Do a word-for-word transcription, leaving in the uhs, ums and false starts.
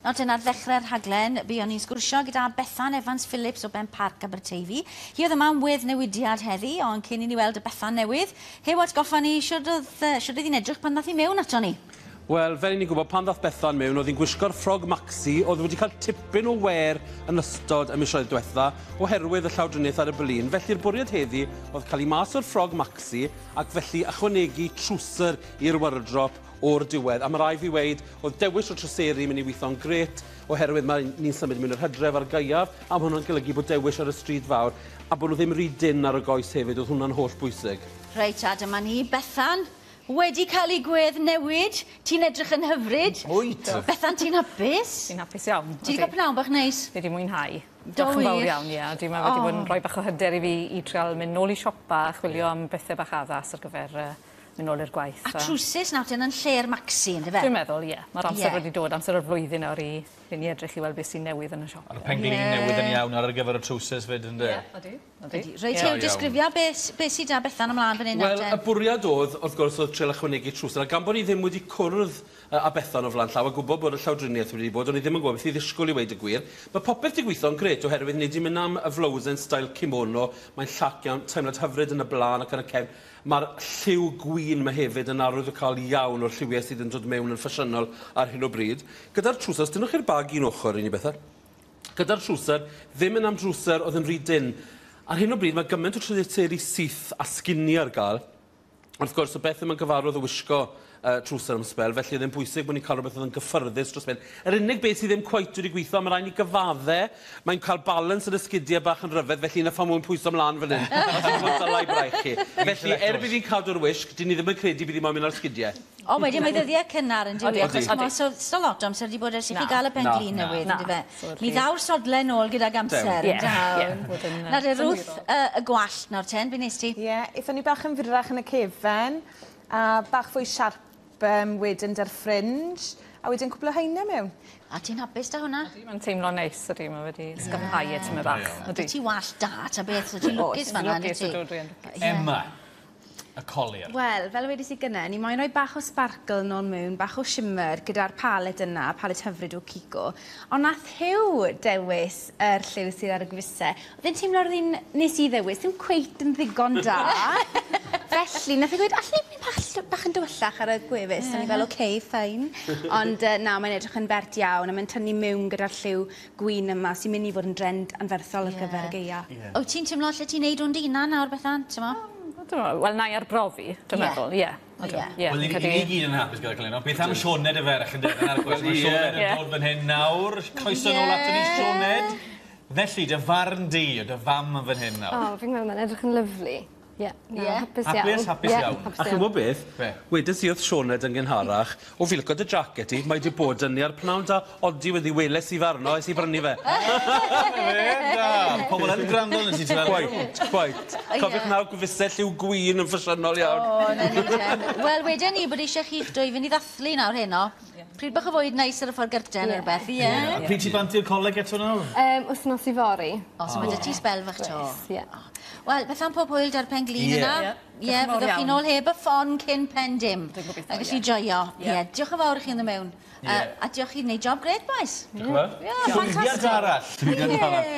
Nawr ten, ar ddechrau'r rhaglen, buon ni'n sgwrsio gyda Bethan Evans Phillips o Benparc Aberteifi. Hi oedd yma am weddnewidiad heddi, ond cyn i ni weld y Bethan newydd, Huw, atgoffa ni, shwd oedd, shwd oedd hi'n edrych pan ddath hi mewn ato ni? Wel, fel i ni'n gwybod, pan ddath Bethan mewn, oedd hi'n gwisgo'r ffrog maxi, oedd wedi cael tipyn o wer yn ystod y misoedd diwetha, oherwydd y llawdriniaeth ar y blin. Felly'r bwriad heddi oedd cael ei mas o'r ffrog maxi ac felly ychwanegu trwser i'r wardrop o'r diwedd. A mae rai fi weud, oedd dewis o trwseri mynd i weithio'n grêt, oherwydd mae ni'n symud mewn i'r hydref a'r gaeaf, a mae hwnna'n golygu bod dewis ar y stryd fawr, a bod nhw ddim rhy dynn ar y goes hefyd, oedd hwnna'n holl bwysig. Reit, a dyma ni, Bethan, wedi cael ei gwedd newid. Ti'n edrych yn hyfryd. Wyt. Bethan, ti'n hapus? Ti'n hapus iawn. Ti wedi cael pnawn bach neis? Fi wedi mwynhau. Diolch yn fawr iawn, ie. Dwi'n meddwl wedi bod yn rhoi bach o hyder i fi i trial mynd nôl i siopa a chwilio am bethau bach addas ar gyfer uh, mynd nôl i'r gwaith. A trwsus nawr ten yn lle'r maxi, yndyfe? Dwi'n meddwl, ie. Mae'r amser yeah. wedi dod, amser o'r flwyddyn nawr i i ni edrych i weld beth sy'n newydd yn y siop. A'r penglin yeah. newydd yn iawn ar gyfer y trwsus fyd, ynddo? Ie, odi. Odi. Reit, Huw, disgrifia beth be sydd da Bethan ymlaen fan hyn nawr Wel, y bwriad oedd, wrth gwrs, oedd trial ychwanegu trwsus. A gan bod ni ddim wedi cwrdd â Bethan o flaen llaw a gwybod bod y llawdriniaeth wedi bod, o'n i ddim yn gwybod beth i ddisgwyl i weud y gwir. Mae popeth wedi gweithio'n grêt oherwydd ni wedi mynd am y flowsen style kimono. Mae'n llac iawn, teimlad hyfryd yn y blaen ac yn y cefn. Mae'r lliw gwyn yma hefyd yn arwyddocaol iawn o'r lliwiau sydd yn dod mewn yn ffasiynol ar hyn o bryd. Gyda'r trwsus, dynwch chi'r bag un ochr i ni bethau. Gyda'r trwser, ddim yn am drwser oedd yn rhy dynn. Ar hyn o bryd mae gymaint o trwseri syth a sginni ar gael. Wrth gwrs, o beth ddim yn gyfarwydd o wisgo uh, trwser am sbel, felly oedd e'n bwysig bod ni'n cael rhywbeth oedd yn gyffyrddus dros ben. Yr unig beth sydd ddim cweit wedi gweithio, mae rhaid ni gyfadde, mae'n cael balans yn y sgidiau bach yn rhyfedd, felly na pham mwyn pwyso ymlaen fan hyn. Os yw'n gwybod dylai braich chi. Felly, er bydd hi'n cadw'r wisg, dyn ni ddim yn credu bydd hi moyn mynd ar sgidiau. O, wedyn mae ddyddiau cynnar yn dyw, achos mae so, so lot o amser wedi bod ers i chi gael y pen-glin newydd, yn dyfe. Mi ddaw'r sodle nôl gydag amser, yn daw. Na de, Ruth, y gwallt nawr ten, be nes ti? Ie, aethon ni bach yn fyrrach yn y cefen, a bach fwy siarp um, wedyn dy'r fringe, a wedyn cwpl o haenau mewn. A ti'n hapus da hwnna? Ydy, mae'n teimlo neis, ydy, mae wedi ysgafnhau e tymed bach. Ydy ti wallt da, ta beth, so ti'n lwcus fan'na, ydy ti? Lwcus, ydw, dwi'n Emma. Y colur. Wel, fel wedes i gynne, ni moyn rhoi bach o sparkle nôl mewn, bach o shimmer gyda'r palet yna, palet hyfryd o Kiko. Ond nath Huw dewis yr lliw sydd ar y gwefusau. Oedd e'n teimlo roedd un nes i ddewis, ddim cweit yn ddigon da. Felly, nath e gweud, allwn ni mynd bach, bach yn dywyllach ar y gwefus. Mm. O'n i fel, oce, okay, fine. Ond na, mae'n edrych yn bert iawn, a mae'n tynnu mewn gyda'r lliw gwyn yma sy'n mynd i fod yn drend anferthol ar yeah. gyfer y gaea. Yeah. Wyt ti'n teimlo lle ti'n neud hwn dy hunan nawr, Bethan, ti'n mo? Wel, na i arbrofi, dwi'n meddwl, ie. Wel, ni gyd yn hapus gyda'r cynllun. Beth am Sioned y ferch yn dod ar gwrs? Mae Sioned yn dod fan hyn nawr. Croeso nôl ato ni, Sioned. Felly, dy farn di, dy fam yn fan hyn nawr. O, fi'n meddwl mae'n edrych yn lyfli. Ie, hapus iawn. Hapus, hapus iawn. A chi'n gwybod beth? Wedes i wrth Sioned yn gynharach, o fi licio dy jacket i, mae wedi bod yn ni ar pnawn da, odi wedi weles i farno, es i brynu fe. Da, pobl yn gwrando yn ti, ti'n meddwl? Quite, quite. Cofiwch nawr gwefusau lliw gwyn yn ffasiynol iawn. O, na ni ten. Wel, wedyn ni bod eisiau chi'ch dwy fynd i ddathlu nawr heno. Pryd bach o fwyd neis ar y ffordd gyrten neu rhywbeth, ie. A pryd ti bant i'r coleg eto nawr? Wythnos i fory. O, so mae dy ti sbel fach to. Ie. Wel, beth am pob hwyl da'r pen-glin yna? Ie, fyddwch chi'n ôl heb y ffon cyn pen dim. A gallu joio. Ie, diolch yn fawr i chi yn y mewn. A diolch chi'n gwneud job grêt, boys. Diolch yn fawr. Ie, ffantastig. Llwyddiant arall. Llwyddiant arall.